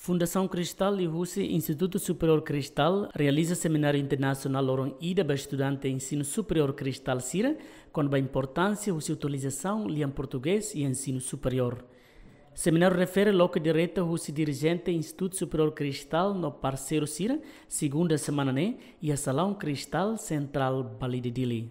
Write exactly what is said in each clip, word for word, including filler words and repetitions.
Fundasaun Cristal liuhusi Institutu Superiór Cristal realiza semináriu internasionál loron ida ba estudante ensinu superiór Cristal sira, kona-ba importánsia husi utilizasaun lian portugés iha ensinu superiór. Semináriu refere loke direta husi dirijente Institutu Superiór Cristal no parseiru sira, segunda semana ne'e, iha Salaun Cristal, Sentrál Balide, Dili.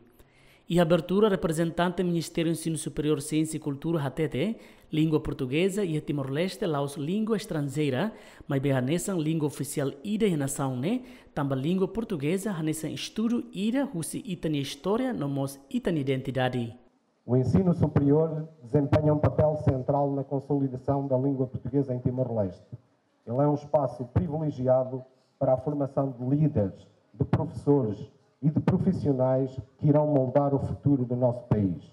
Iha abertura, reprezentante Ministériu Ensinu Superiór, Siénsia i Kultura hatete, língua portugeza iha Timor-Leste la'ós língua estranjeira, maibé hanesan língua ofisiál ida iha nasaun ne'e, tanba língua portugeza hanesan estudu ida husi ita-nia istória no mós ita-nia identidade. O ensino superior desempenha um papel central na consolidação da língua portuguesa em Timor-Leste. Ele é um espaço privilegiado para a formação de líderes, de professores e de profissionais que irão moldar o futuro do nosso país.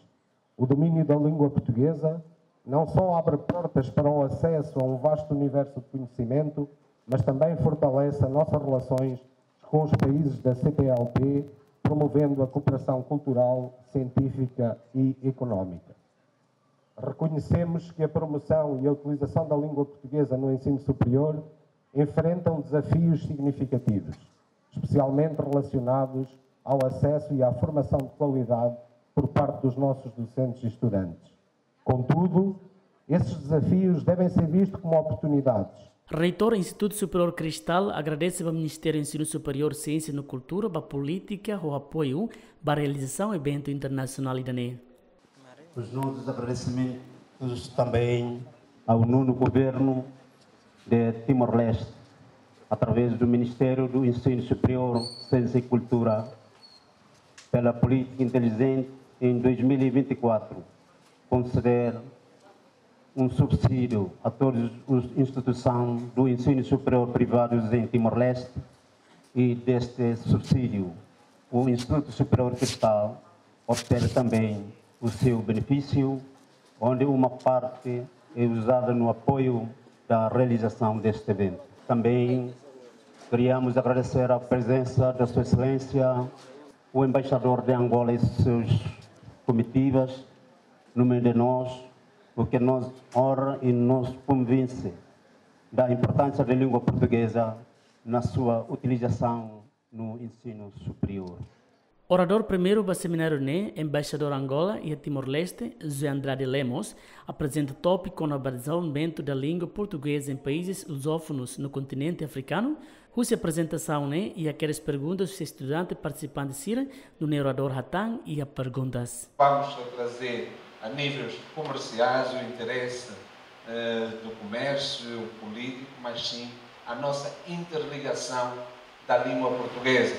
O domínio da língua portuguesa não só abre portas para o acesso a um vasto universo de conhecimento, mas também fortalece as nossas relações com os países da C P L P, promovendo a cooperação cultural, científica e económica. Reconhecemos que a promoção e a utilização da língua portuguesa no ensino superior enfrentam desafios significativos, especialmente relacionados ao acesso e à formação de qualidade por parte dos nossos docentes e estudantes. Contudo, esses desafios devem ser vistos como oportunidades. Reitór Institutu Superiór Cristal agradese ba Ministériu Ensinu Superiór, Siénsia no Kultura ba polítika ho apoiu ba realizasaun eventu internasionál ida-ne'e. Os nossos agradecimentos também ao nono governo de Timor-Leste, através do Ministério do Ensino Superior, Ciência e Cultura, pela política inteligente em dois mil e vinte e quatro, conceder um subsídio a todas as instituições do ensino superior privados em Timor-Leste, e deste subsídio, o Instituto Superior Cristal obteve também o seu benefício, onde uma parte é usada no apoio da realização deste evento. Também queríamos agradecer a presença da Sua Excelência, o embaixador de Angola e suas comitivas, no meio de nós, o que nos honra e nos convence da importância da língua portuguesa na sua utilização no ensino superior. Oradór primeiru ba semináriu ne'e, Embaixadór Angola iha Timor-Leste, José Andrade Lemos, aprezenta tópiku kona-ba dezenvolvimentu da língua portugeza em países lusófonos no kontinente afrikanu. Husi aprezentasaun ne'e, iha kedas perguntas husi estudante partisipante sira, nune'e oradór hatán iha perguntas. Vamos trazer a níveis comerciais o interesse, eh, do comércio político, mas sim a nossa interligação da língua portuguesa.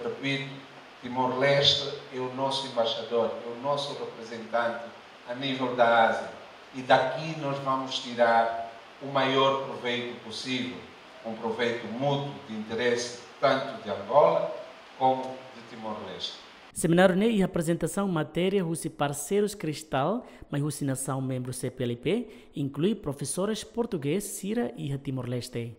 Repito, Timor-Leste é o nosso embaixador, é o nosso representante a nível da Ásia. E daqui nós vamos tirar o maior proveito possível, um proveito mútuo de interesse tanto de Angola como de Timor-Leste. Semináriu ne'e iha aprezentasaun matéria husi parseirus Cristal, mai husi nasaun membru C P L P, inklui profesores portugés sira iha Timor-Leste.